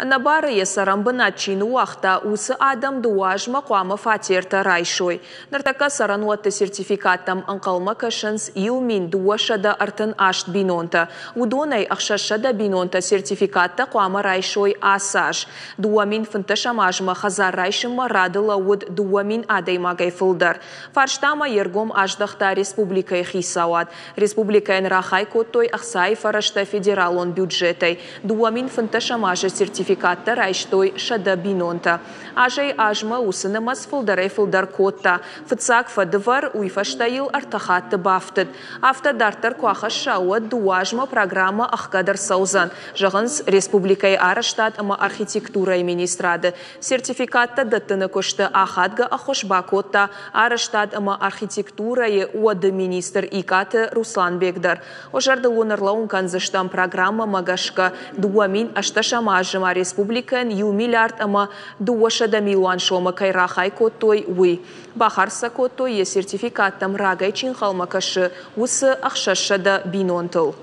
Ӕнӕбары йӕ цӕрӕнбынат чи ныууагъта, уыцы адӕм дыууӕ азмӕ хъуамӕ фатертӕ райсой. Ныртӕккӕ цӕрӕнуӕтты сертификаттӕм ӕнхъӕлмӕ кӕсынц 1238 бинонтӕ. Уыдонӕй 600 бинонтӕ сертификаттӕ хъуамӕ райсой ацы аз. 2015 азмӕ хӕдзар райсынмӕ рады лӕууыд 2000 адӕймагӕй фылдӕр. Фарстамӕ йе ргом аздӕхта республикӕйы хицауад. Республикӕйӕн рахай кодтой ӕхцайы фӕрӕзтӕ федералон бюджетӕй. 2015 азы сертификаттӕ райстой 100 бинонтӕ. Азӕй-азмӕ уыцы нымӕц фылдӕрӕй-фылдӕр кодта. Фыццаг фӕдывӕр, уый фӕстӕ йыл ӕртӕ хатты бафтыд. Афтӕ дарддӕр куы ахӕсса, уӕд дыууӕ азмӕ программӕ ӕхгӕд ӕрцӕудзӕн, зӕгъынц республикӕйы арӕзтад ӕмӕ архитектурӕйы министрады. Сертификаттӕ дӕттыны куысты ахадгӕ ӕххуыс бакодта арӕзтад ӕмӕ архитектурӕйы уӕды министр Икъаты Русланбег дӕр. Уӕ зӕрдыл уын ӕрлӕууын кӕндзыстӕм программӕмӕ гӕсгӕ 2018 азы ма республикӕйӕн 1 миллиард ӕмӕ 200 милуан сомы кӕй рахай кодтой, уый. Бахардз сӕ кодтой, йӕ сертификаттӕм рагӕй чи ӕнхъӕлмӕ кӕсы, уыцы 600 бинонтыл.